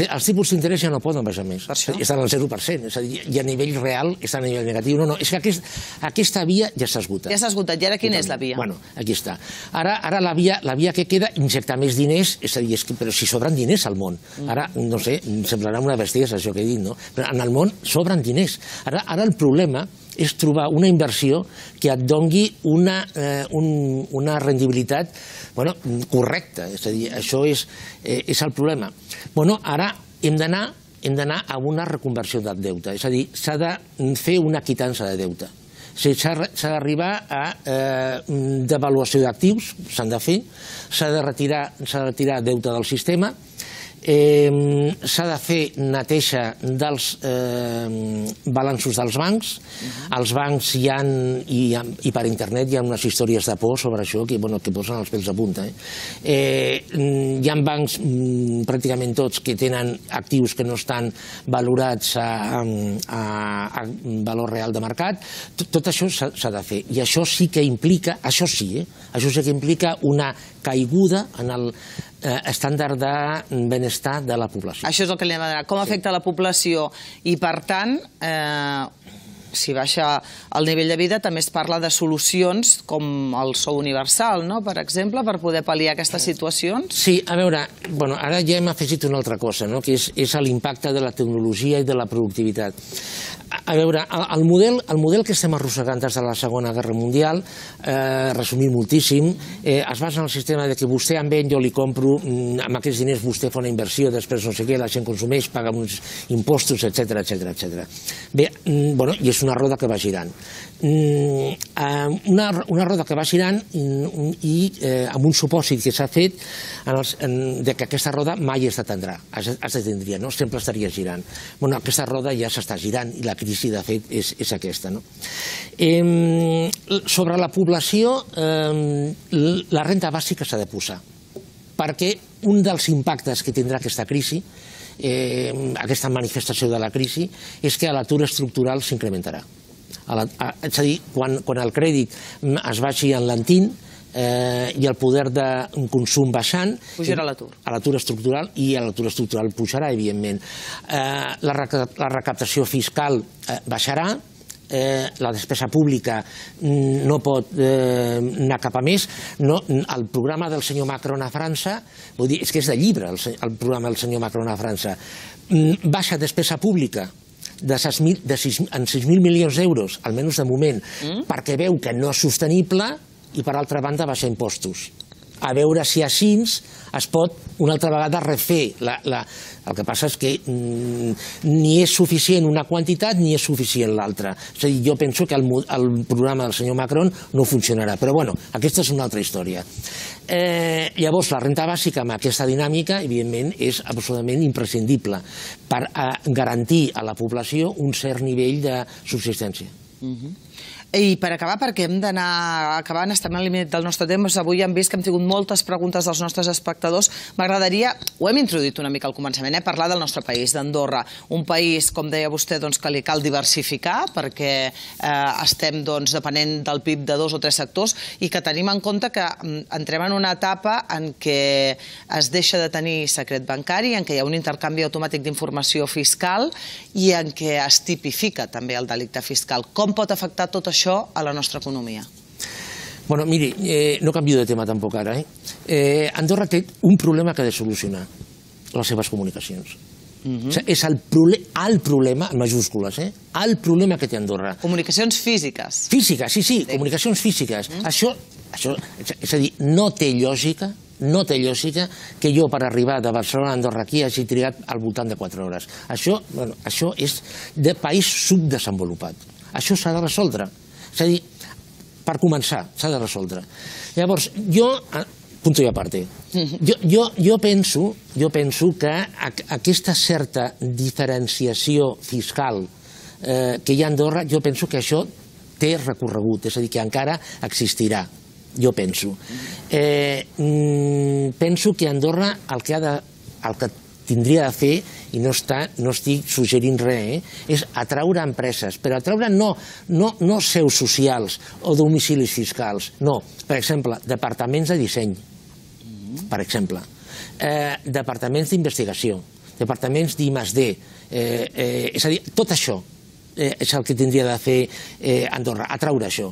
[SPEAKER 2] Els tipus d'interès ja no poden baixar més, estan al zero per cent, és a dir, i a nivell real estan a nivell negatiu. No, no, és que aquesta via ja s'ha esgotat.
[SPEAKER 1] Ja s'ha esgotat, i ara quina és la via?
[SPEAKER 2] Bueno, aquí està. Ara la via que queda, injectar més diners, és a dir, però si sobren diners al món. Ara, no sé, semblarà una bestiesa això que he dit, no? Però en el món sobren diners. Ara el problema és trobar una inversió que et dongui una rendibilitat correcta. És a dir, això és el problema. Bueno, ara hem d'anar hem d'anar a una reconversió del deute. És a dir, s'ha de fer una quitança de deute. S'ha d'arribar a devaluació d'actius, s'han de fer, s'ha de retirar deute del sistema, s'ha de fer neteja dels balanços dels bancs. Els bancs hi ha, i per internet hi ha unes històries de por sobre això que posen els pèls de punta. Hi ha bancs, pràcticament tots, que tenen actius que no estan valorats a valor real de mercat. Tot això s'ha de fer. I això sí que implica, això sí, això sí que implica una caiguda en el estàndard de benestar de la població.
[SPEAKER 1] Això és el que li hem de dir. Com afecta la població? I, per tant, si baixa el nivell de vida, també es parla de solucions com el sou universal, per exemple, per poder pal·liar aquestes situacions?
[SPEAKER 2] Sí, a veure, ara ja hem afegit una altra cosa, que és l'impacte de la tecnologia i de la productivitat. A veure, el model que estem arrossegant des de la Segona Guerra Mundial, resumint moltíssim, es basa en el sistema que vostè em ven, jo li compro, amb aquests diners vostè fa una inversió, després no sé què, la gent consumeix, paga uns impostos, etcètera, etcètera. Bé, i és una roda que va girant. Una roda que va girant i amb un supòsit que s'ha fet que aquesta roda mai es detendrà, es detendria, sempre estaria girant. Aquesta roda ja s'està girant i la crisi, de fet, és aquesta. Sobre la població, la renda bàsica s'ha de posar, perquè un dels impactes que tindrà aquesta crisi, aquesta manifestació de la crisi, és que l'atur estructural s'incrementarà. És a dir, quan el crèdit es vagi enlentint i el poder de consum baixant...
[SPEAKER 1] Pujarà l'atur.
[SPEAKER 2] L'atur estructural, i l'atur estructural pujarà, evidentment. La recaptació fiscal baixarà, la despesa pública no pot anar cap a més. El programa del senyor Macron a França, és que és de llibre el programa del senyor Macron a França, baixa despesa pública en sis mil milions d'euros, almenys de moment, perquè veu que no és sostenible, i per altra banda baixar impostos. A veure si així es pot una altra vegada refer. El que passa és que ni és suficient una quantitat ni és suficient l'altra. És a dir, jo penso que el programa del senyor Macron no funcionarà, però bueno, aquesta és una altra història. Llavors, la renda bàsica amb aquesta dinàmica, evidentment, és absolutament imprescindible per garantir a la població un cert nivell de subsistència.
[SPEAKER 1] I per acabar, perquè hem d'anar acabant, estem al límit del nostre temps, avui hem vist que hem tingut moltes preguntes dels nostres espectadors. M'agradaria, ho hem introduït una mica al començament, parlar del nostre país, d'Andorra. Un país, com deia vostè, que li cal diversificar, perquè estem depenent del P I B de dos o tres sectors, i que tenim en compte que entrem en una etapa en què es deixa de tenir secret bancari, en què hi ha un intercanvi automàtic d'informació fiscal i en què es tipifica també el delicte fiscal. Com pot afectar tot això a la nostra economia?
[SPEAKER 2] Bueno, miri, no canvio de tema tampoc ara. Andorra té un problema que ha de solucionar, les seves comunicacions. És el problema, en majúscules, el problema que té Andorra.
[SPEAKER 1] Comunicacions físiques.
[SPEAKER 2] Físiques, sí, sí, comunicacions físiques. Això, és a dir, no té lògica, no té lògica que jo per arribar de Barcelona a Andorra aquí hagi trigat al voltant de quatre hores. Això és de país subdesenvolupat. Això s'ha de resoldre. És a dir, per començar, s'ha de resoldre. Llavors, jo, punto i aparte, jo penso que aquesta certa diferenciació fiscal que hi ha a Andorra, jo penso que això té recorregut, és a dir, que encara existirà, jo penso. Penso que Andorra el que tindria de fer, i no, està, no estic suggerint res, eh? és atraure empreses, però atraure no, no, no seus socials o domicilis fiscals, no. Per exemple, departaments de disseny, per exemple, eh, departaments d'investigació, departaments d'I més D, eh, eh, és a dir, tot això eh, és el que tindria de fer eh, Andorra, atraure això.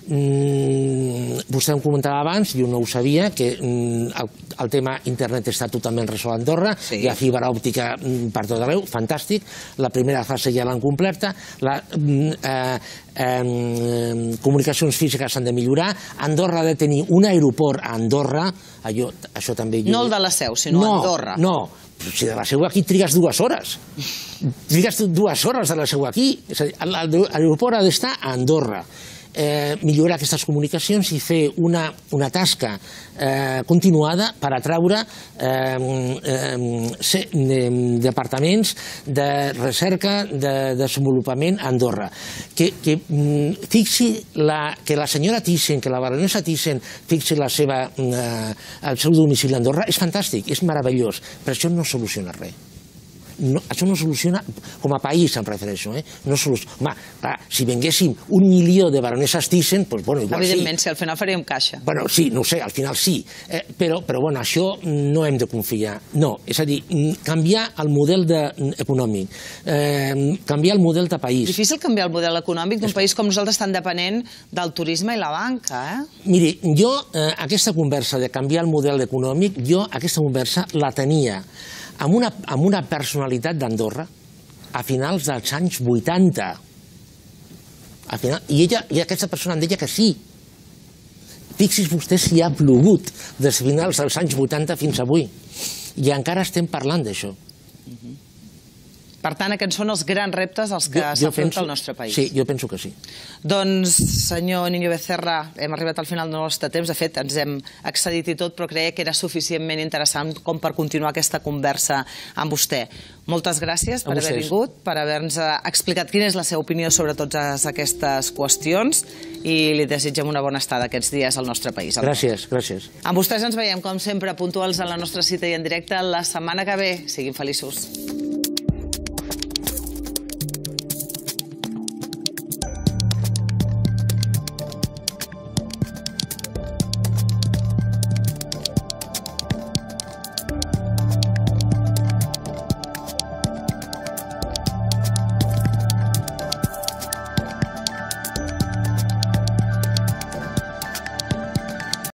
[SPEAKER 2] Mm, vostè em comentava abans, jo no ho sabia, que mm, el, el tema internet està totalment resolt a Andorra, sí. Hi ha fibra òptica mm, per tot arreu, fantàstic, la primera fase ja l'han completa, la, mm, eh, eh, comunicacions físiques s'han de millorar, Andorra ha de tenir un aeroport a Andorra, allò, això també... Jo...
[SPEAKER 1] No el de la Seu, sinó
[SPEAKER 2] no,
[SPEAKER 1] Andorra.
[SPEAKER 2] No, si de la Seu aquí trigues dues hores. Trigues dues hores de la Seu aquí. És a dir, l'aeroport ha d'estar a Andorra. Eh, millorar aquestes comunicacions i fer una, una tasca eh, continuada per atraure eh, eh, se, de, departaments de recerca, de desenvolupament a Andorra. Que, que fixi la, que la senyora Thyssen, que la baronessa Thyssen fixi la seva, eh, el seu domicili a Andorra, és fantàstic, és meravellós, però això no soluciona res. No, això no soluciona, com a país em refereixo, eh? No soluciona. Home, clar, si venguéssim un milió de baronesses Thyssen, doncs, bueno, igual sí.
[SPEAKER 1] Evidentment, si al final faríem caixa.
[SPEAKER 2] Bueno, sí, no ho sé, al final sí, eh, però, però bueno, això no hem de confiar. No, és a dir, canviar el model de, econòmic, eh, canviar el model de país.
[SPEAKER 1] Difícil canviar el model econòmic d'un país com nosaltres tan depenent del turisme i la banca, eh?
[SPEAKER 2] Miri, jo, eh, aquesta conversa de canviar el model econòmic, jo aquesta conversa la tenia amb una, amb una personalitat d'Andorra a finals dels anys vuitanta. A final, i, ella, I aquesta persona em deia que sí. Fixi's vostè si ha plogut des de finals dels anys vuitanta fins avui. I encara estem parlant d'això.
[SPEAKER 1] Per tant, aquests són els grans reptes als que s'afronta el nostre país.
[SPEAKER 2] Sí, jo penso que sí.
[SPEAKER 1] Doncs, senyor Niño Becerra, hem arribat al final del nostre temps. De fet, ens hem excedit i tot, però creia que era suficientment interessant com per continuar aquesta conversa amb vostè. Moltes gràcies per haver vingut, per haver-nos explicat quina és la seva opinió sobre totes aquestes qüestions i li desitgem una bona estada aquests dies al nostre país.
[SPEAKER 2] Gràcies, gràcies.
[SPEAKER 1] Amb vostès ens veiem, com sempre, puntuals a la nostra cita i en directe la setmana que ve. Siguin feliços.